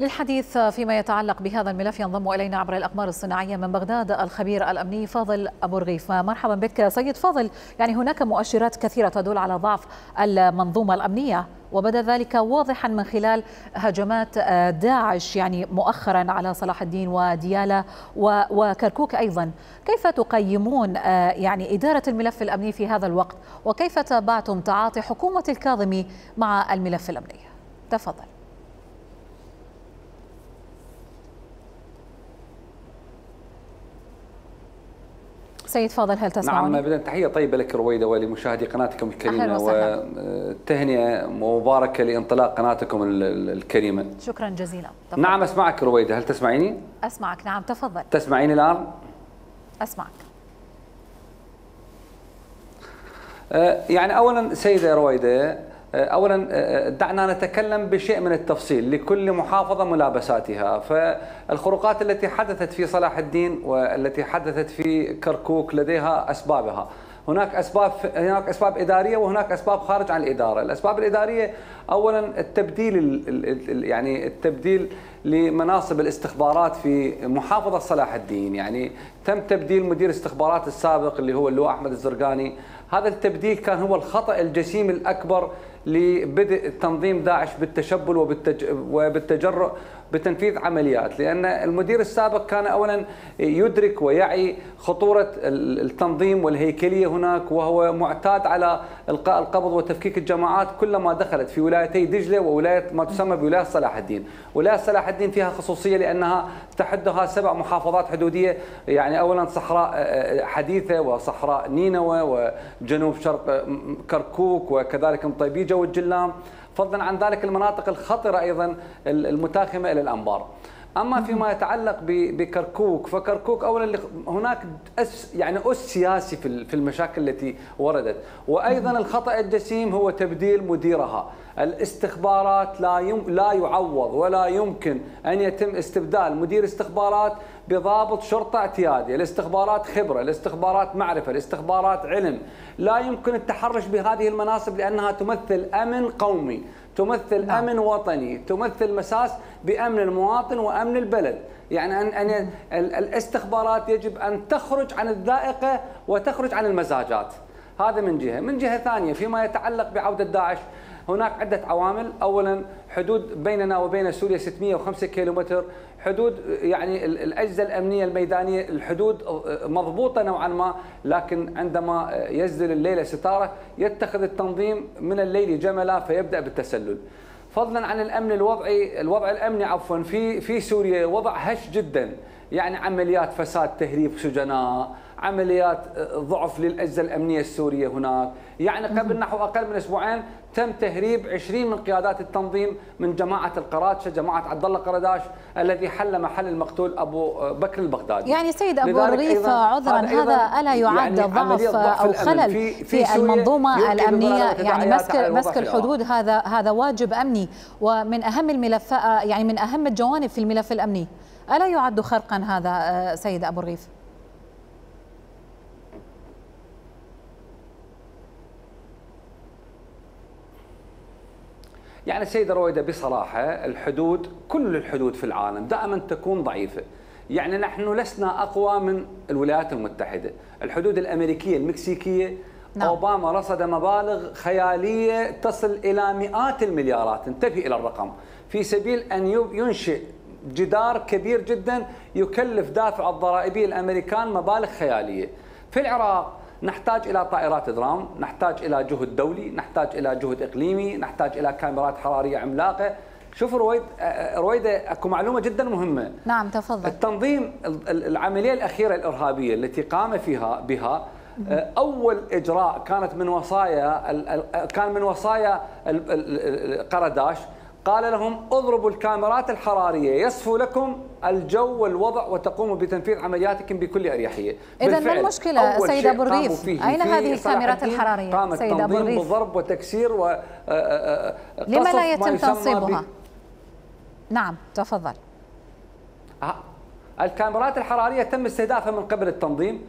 للحديث فيما يتعلق بهذا الملف ينضم إلينا عبر الأقمار الصناعية من بغداد الخبير الأمني فاضل أبو رغيف. مرحبا بك سيد فاضل. يعني هناك مؤشرات كثيرة تدل على ضعف المنظومة الأمنية، وبدا ذلك واضحا من خلال هجمات داعش يعني مؤخرا على صلاح الدين وديالى وكركوك أيضا. كيف تقيمون يعني إدارة الملف الأمني في هذا الوقت، وكيف تابعتم تعاطي حكومة الكاظمي مع الملف الأمني؟ تفضل. سيد فاضل هل تسمعني؟ نعم، بداية تحية طيبة لك رويدة ولمشاهدي قناتكم الكريمة، وتهنئة مباركة لانطلاق قناتكم الكريمة. شكرا جزيلا. تفضل. نعم أسمعك رويدة، هل تسمعيني؟ أسمعك نعم تفضل. تسمعيني الآن؟ أسمعك. يعني أولا سيدة رويدة، أولا دعنا نتكلم بشيء من التفصيل، لكل محافظة ملابساتها. فالخروقات التي حدثت في صلاح الدين والتي حدثت في كركوك لديها أسبابها. هناك أسباب إدارية وهناك أسباب خارج عن الإدارة. الأسباب الإدارية أولا التبديل لمناصب الاستخبارات في محافظة صلاح الدين. يعني تم تبديل مدير استخبارات السابق اللي هو اللواء أحمد الزرقاني. هذا التبديل كان هو الخطأ الجسيم الأكبر لبدء تنظيم داعش بالتشبل وبالتجرؤ بتنفيذ عمليات، لأن المدير السابق كان أولا يدرك ويعي خطورة التنظيم والهيكلية هناك، وهو معتاد على إلقاء القبض وتفكيك الجماعات كلما دخلت في ولايتي دجلة وولاية ما تسمى بولاية صلاح الدين. ولاية صلاح الدين فيها خصوصية لأنها تحدها 7 محافظات حدودية، يعني أولا صحراء حديثة وصحراء نينوى وجنوب شرق كركوك وكذلك مطيبيجة والجلام، فضلا عن ذلك المناطق الخطرة أيضا المتاخمة إلى الأنبار. أما فيما يتعلق بكركوك، فكركوك أولا هناك أس سياسي في المشاكل التي وردت، وأيضا الخطأ الجسيم هو تبديل مديرها. الاستخبارات لا يعوض ولا يمكن أن يتم استبدال مدير استخبارات بضابط شرطة اعتيادي. الاستخبارات خبرة، الاستخبارات معرفة، الاستخبارات علم. لا يمكن التحرش بهذه المناصب لأنها تمثل أمن قومي، تمثل أمن وطني، تمثل مساس بأمن المواطن وأمن البلد. يعني أن الاستخبارات يجب أن تخرج عن الذائقة وتخرج عن المزاجات. هذا من جهة. من جهة ثانية فيما يتعلق بعودة داعش، هناك عدة عوامل. أولا حدود بيننا وبين سوريا 605 كيلومتر حدود، يعني الأجهزة الأمنية الميدانية الحدود مضبوطة نوعا ما، لكن عندما يزدل الليل ستارة يتخذ التنظيم من الليل جملا فيبدأ بالتسلل. فضلا عن الأمن الوضع الأمني في سوريا وضع هش جدا، يعني عمليات فساد تهريب سجناء، عمليات ضعف للأجهزة الأمنية السورية هناك. يعني قبل نحو أقل من أسبوعين تم تهريب 20 من قيادات التنظيم من جماعة القرادشة، جماعة عبد الله قرداش الذي حل محل المقتول أبو بكر البغدادي. يعني سيد أبو رغيف عذرا، هذا ألا يعد يعني ضعف أو خلل في المنظومة الأمنية؟ يعني مسك الحدود هذا واجب أمني ومن أهم الملف، يعني من أهم الجوانب في الملف الأمني. ألا يعد خرقا هذا سيد أبو رغيف؟ يعني سيدة رويدة بصراحة الحدود، كل الحدود في العالم دائما تكون ضعيفة. يعني نحن لسنا أقوى من الولايات المتحدة. الحدود الأمريكية المكسيكية أوباما رصد مبالغ خيالية تصل إلى مئات المليارات، انتبه إلى الرقم، في سبيل أن ينشئ جدار كبير جدا يكلف دافع الضرائبي الأمريكان مبالغ خيالية. في العراق نحتاج إلى طائرات درام، نحتاج إلى جهد دولي، نحتاج إلى جهد إقليمي، نحتاج إلى كاميرات حرارية عملاقة. شوف رويدة أكو معلومة جدا مهمة. نعم تفضل. التنظيم العملية الأخيرة الإرهابية التي قام بها أول إجراء كان من وصايا قرداش، قال لهم اضربوا الكاميرات الحرارية يصفو لكم الجو والوضع وتقوموا بتنفيذ عملياتكم بكل أريحية. إذا ما المشكلة سيد أبو رغيف؟ أين هذه الكاميرات الحرارية سيد أبو رغيف؟ بضرب وتكسير لما لا يتم تنصيبها؟ نعم تفضل. الكاميرات الحرارية تم استهدافها من قبل التنظيم.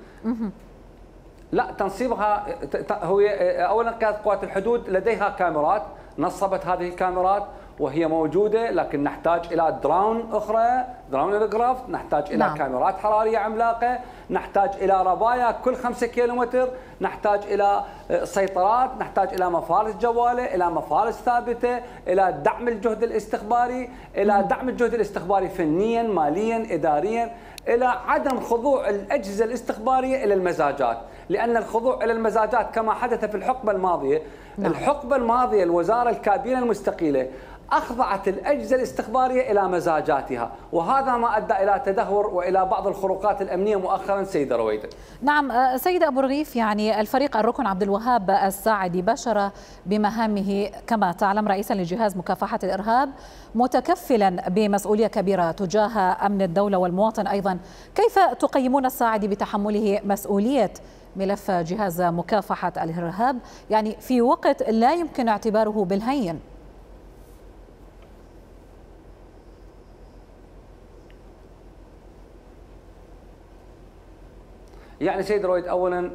لا، تنصيبها هو اولا قيادة قوات الحدود لديها كاميرات، نصبت هذه الكاميرات وهي موجودة، لكن نحتاج إلى درون أخرى، درون ايركرافت، نحتاج إلى كاميرات حرارية عملاقة، نحتاج إلى ربايا كل 5 كيلومتر، نحتاج إلى سيطرات، نحتاج إلى مفارس جوالة، إلى مفارس ثابتة، إلى دعم الجهد الاستخباري، إلى دعم الجهد الاستخباري فنيا ماليا إداريا، إلى عدم خضوع الأجهزة الاستخبارية إلى المزاجات، لأن الخضوع إلى المزاجات كما حدث في الحقبة الماضية، الحقبة الماضية الوزارة الكابينة المستقيلة أخضعت الأجهزة الاستخبارية إلى مزاجاتها، وهذا ما أدى إلى تدهور وإلى بعض الخروقات الأمنية مؤخرا سيدة رويدة. نعم سيد أبو رغيف، يعني الفريق الركن عبد الوهاب الساعدي بشر بمهامه كما تعلم رئيسا لجهاز مكافحة الإرهاب، متكفلا بمسؤولية كبيرة تجاه أمن الدولة والمواطن أيضا. كيف تقيمون الساعدي بتحمله مسؤولية ملف جهاز مكافحة الإرهاب، يعني في وقت لا يمكن اعتباره بالهين؟ يعني سيد رويد، اولا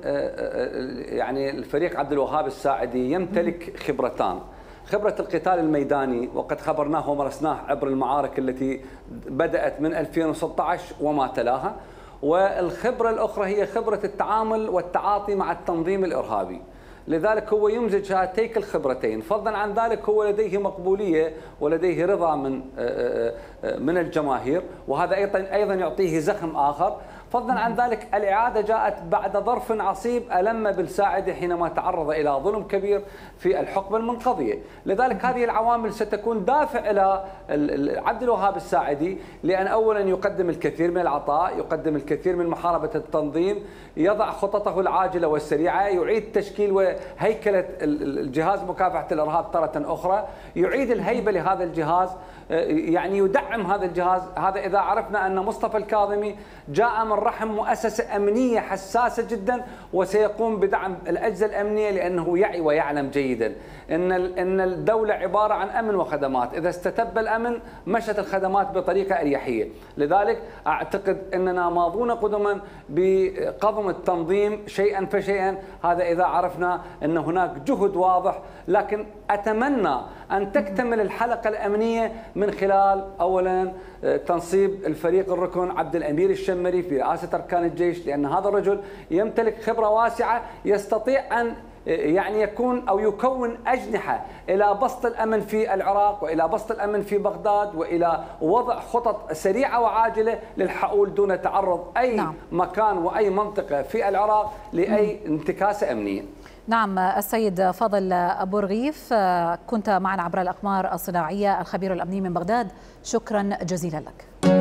يعني الفريق عبد الوهاب الساعدي يمتلك خبرتان، خبرة القتال الميداني وقد خبرناه ومارسناه عبر المعارك التي بدأت من 2016 وما تلاها، والخبرة الأخرى هي خبرة التعامل والتعاطي مع التنظيم الإرهابي. لذلك هو يمزج هاتيك الخبرتين، فضلا عن ذلك هو لديه مقبولية ولديه رضا من الجماهير، وهذا أيضا يعطيه زخم آخر. فضلا عن ذلك الإعادة جاءت بعد ظرف عصيب ألم بالساعدي حينما تعرض إلى ظلم كبير في الحقبة المنقضية، لذلك هذه العوامل ستكون دافع إلى عبد الوهاب الساعدي، لأن أولا يقدم الكثير من العطاء، يقدم الكثير من محاربة التنظيم، يضع خططه العاجلة والسريعة، يعيد تشكيل وهيكلة الجهاز مكافحة الإرهاب تارة أخرى، يعيد الهيبة لهذا الجهاز، يعني يدعم هذا الجهاز. هذا إذا عرفنا أن مصطفى الكاظمي جاء من رحم مؤسسة أمنية حساسة جدا، وسيقوم بدعم الأجهزة الأمنية، لأنه يعي ويعلم جيدا أن الدولة عبارة عن أمن وخدمات، إذا استتب الأمن مشت الخدمات بطريقة أريحية. لذلك أعتقد أننا ماضون قدما بقضم التنظيم شيئا فشيئا، هذا إذا عرفنا أن هناك جهد واضح، لكن أتمنى أن تكتمل الحلقة الأمنية من خلال أولا تنصيب الفريق الركن عبد الأمير الشمري في رئاسة أركان الجيش، لأن هذا الرجل يمتلك خبرة واسعة، يستطيع أن يعني يكون أو يكون أجنحة إلى بسط الأمن في العراق وإلى بسط الأمن في بغداد وإلى وضع خطط سريعة وعاجلة للحقول دون تعرض أي مكان وأي منطقة في العراق لأي انتكاسة أمنية. نعم السيد فاضل أبو رغيف، كنت معنا عبر الأقمار الصناعية الخبير الأمني من بغداد، شكرا جزيلا لك.